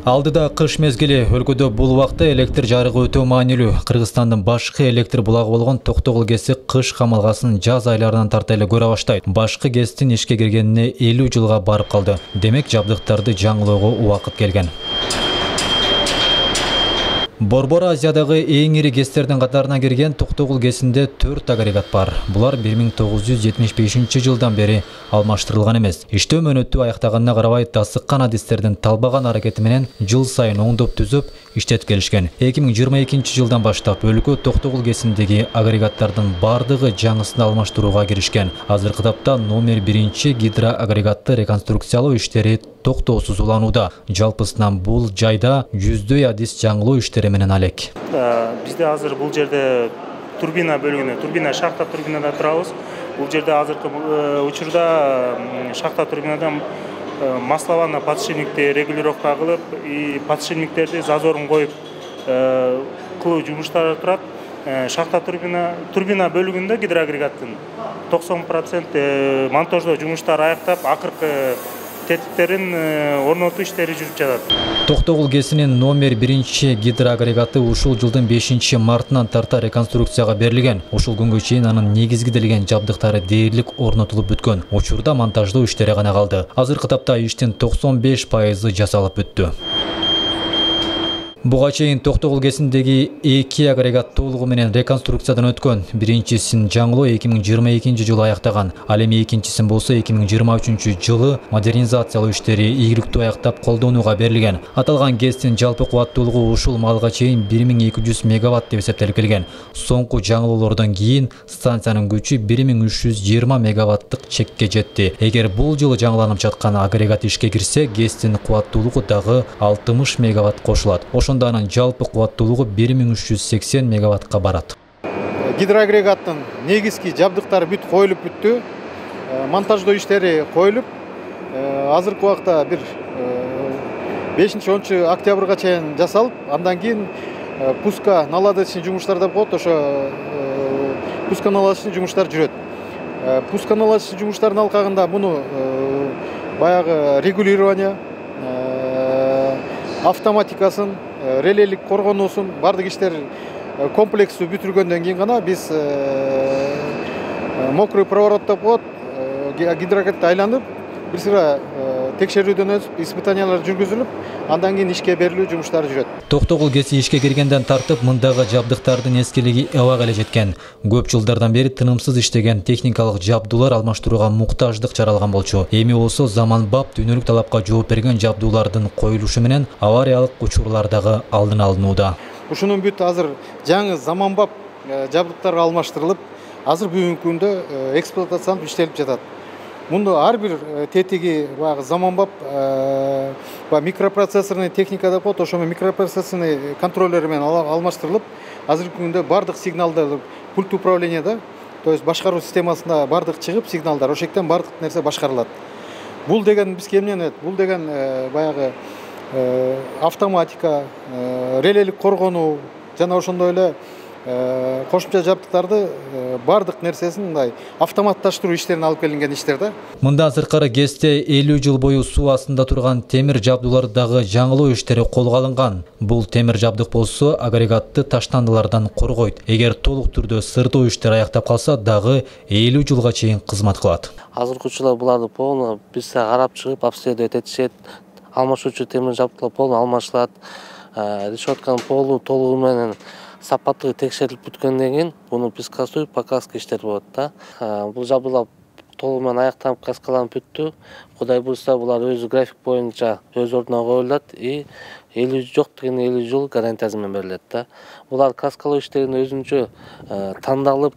Алдыда кыш мезгили, өлкөдө бул убакта электр жарыгы өтө маанилүү. Кыргызстандын башкы электр булагы болгон Токтогул ГЭСи кыш камалгасын жаз айларынан тарта эле көрө баштайт. Башкы ГЭСтин ишке киргенине 50 жылга барып калды. Демек, жабдыктарды жаңылоого убакыт келген. Борбор Азиядагы эң ири ГЭСтердин катарына кирген Токтогул ГЭСинде 4 агрегат бар. Булар 1975 жылдан бери алмаштырылган эмес. Иштөө мөөнөтү аяктаганына карабай, тасыккан адистердин талбаган аракети менен жыл сайын оңдоп түзүп иштетип келишкен. 2022 жылдан баштап өлкө Токтогул ГЭСиндеги агрегаттардын бардыгы жаңысын алмаштырууга киришкен. Азыркы тапта номер 1 гидроагрегатты реконструкциялоо иштери токтоосуз уланууда. Жалпысынан бул жайда жүздөй адис жаңылоо иштери менен алек. Бизде азыр бул жерде турбина бөлүгүнө, шахта турбинада турабыз. Бул жерде азыркы учурда шахта турбинадан масловано подшипникти регулировка кылып, подшипниктерди зазорун коюп кылуу жумуштары турат. Шахта турбина бөлүгүндө гидроагрегаттын 90% монтаждоо жумуштары аяктап, акыркы тетиктерин орнотуу иштери жүрүп жатат. Токтогул ГЭСинин номер 1 гидроагрегаты ушул жылдын 5 мартынан тарта реконструкцияга берилген. Ушул күнгө чейин анын негизгиделген жабдыктары дээрлик орнотулуп бүткөн. Учурда монтаждоо иштери гана калды. Азыркы тапта иштин 95% жасалып бүттү. Буга чейин Токтогул ГЭСиндеги 2 агрегат толугу менен реконструкциядан өткөн. Биринчисин жаңылоо 2022 жылы аяктаган. Ал эми экинчисин болсо 2023 жылы модернизациялоо иштери ийгиликтүү аяктап колдонууга берилген. Аталган ГЭСтин жалпы кубаттуулугу ушул малга чейин 1200 мегаватт деп эсептелип келген. Соңку жаңылоолордон кийин станциянын күчү 1320 мегаваттык чекке жетти. Эгер бул жылы жаңыланып жаткан агрегат ишке кирсе, ГЭСтин кубаттуулугу дагы 60 мегаватт кошулат. Анын жалпы кубаттуулугу 1380 мегаваттка барат. Гидроагрегаттын негизги жабдыктары бүт коюлуп бүттү. Монтаждоо иштери коюлуп, азыркы убакта бир 5-10 октябрга чейин жасалып, андан кийин пуска наладочный жумуштар да болот. Ошо пуска наладочный жумуштар жүрөт. Пуска наладочный жумуштардын алкагында муну баягы регулирование, автоматикасын, релелик коргонуусун бардык иштер комплекстүү бүтүргөндөн кийин гана биз мокрый проворот деп коет, гидроагрегатты айланып, бир сыра текшерүүдөн өтүп, испытаниялар жүргүзүлүп, андан кийин ишке берилүү жумуштары жүрөт. Токтогул ГЭСи ишке киргенден тартып, мындагы жабдыктардын эскилиги эбак эле жеткен. Көп жылдардан бери тынымсыз иштеген техникалык жабдуулар алмаштырууга муктаждык жаралган болчу. Эми болсо заманбап дүйнөлүк талапка жооп берген жабдуулардын коюлушу менен авариялык учурлар дагы алдын алынууда. Ушунун бүт азыр жаңы заманбап жабдыктар алмаштырылып, азыр бүгүнкү күндө эксплуатацияланып иштелип жатат. Мунду ар бир тетиги заманбап микропроцессорный техника деп коет, ошо микропроцессорный контроллер менен алмаштырылып, азыркы күндө бардык сигналдар пульт управленияда, то есть башкаруу системасында бардык чыгып сигналдар, ошол жактан бардык нерсе башкарылат. Бул деген бизге эмне болот? Бул деген баягы автоматика, релелик коргонуу жана ошондой эле кошумча жабдыктарды бардык нерсесин мындай автоматташтыруу иштерине алып келинген иштер да. Мындан сырткары ГЭСте 50 жыл бою суу астында турган темир жабдуулар дагы жаңылоо иштери колго алынган. Бул темир жабдык болсо агрегатты таштандылардан коргойт. Эгер толук түрдө сырдоо иштери аяктап калса, дагы 50 жылга чейин кызмат кылат. Азыркы учурда буларды полный биз карап чыгып обследовать этишет. Алмашуучу темир жабдыктар полный алмашылат. Решетканын толугу менен сапаттыгы текшерилип бүткөндөн кийин буну пескасуу покраска иштери болот да. Бул жабдуулар толугу менен аякталып каскаланып бүттү. Кудай буйрса булар өзү график боюнча өз ордуна коюлат и 50 жок деген 50 жыл гарантиясы менен берилет да. Булар каскалоо иштерине өзүнчө тандалып,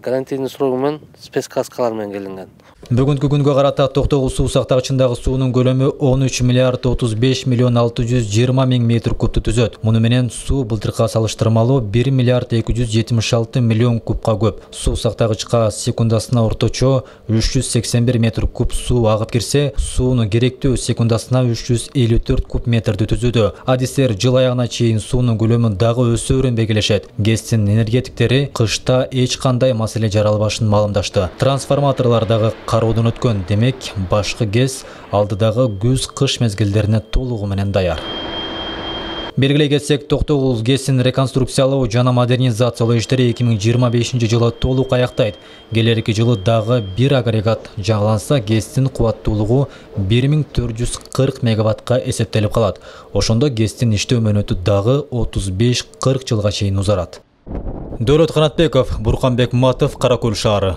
гарантийный срогу менен спецкаскалар менен келинген. Бүгүнкү күнгө карата Токтогул суу сактагычындагы суунун көлөмү 13 миллиард 35 миллион 620 миң метр кубту түзөт. Муну менен суу былтыркыга салыштырмалуу 1 миллиард 276 миллион кубка көп. Суу сактагычка секундасына орточо 381 метр куб суу агып кирсе, суунун керектүү секундасына 354 куб метрди түзүүдө. Адистер жыл аягына чейин суунун көлөмүн дагы өсөөрүн белгилешет. ГЭСтин энергетиктери кышта эч кандай маселе жаралбашын маалымдашты. Трансформаторлор дагы кароодон өткөн. Демек, башкы ГЭС алдыдагы күз-кыш мезгилдерине толугу менен даяр. Белгилей кетсек, Токтогул ГЭСин реконструкциялоо жана модернизациялоо иштери 2025-жылы толук аяктайт. Келерки жылы дагы бир агрегат жаңыланса, ГЭСтин кубаттуулугу 1440 мегаваттка эсептелип калат. Ошондо ГЭСтин иштөө мөөнөтү дагы 35-40 жылга чейин узарат. Дөөлөт Канатбеков, Бурканбек Матов, Кара Көл шаары.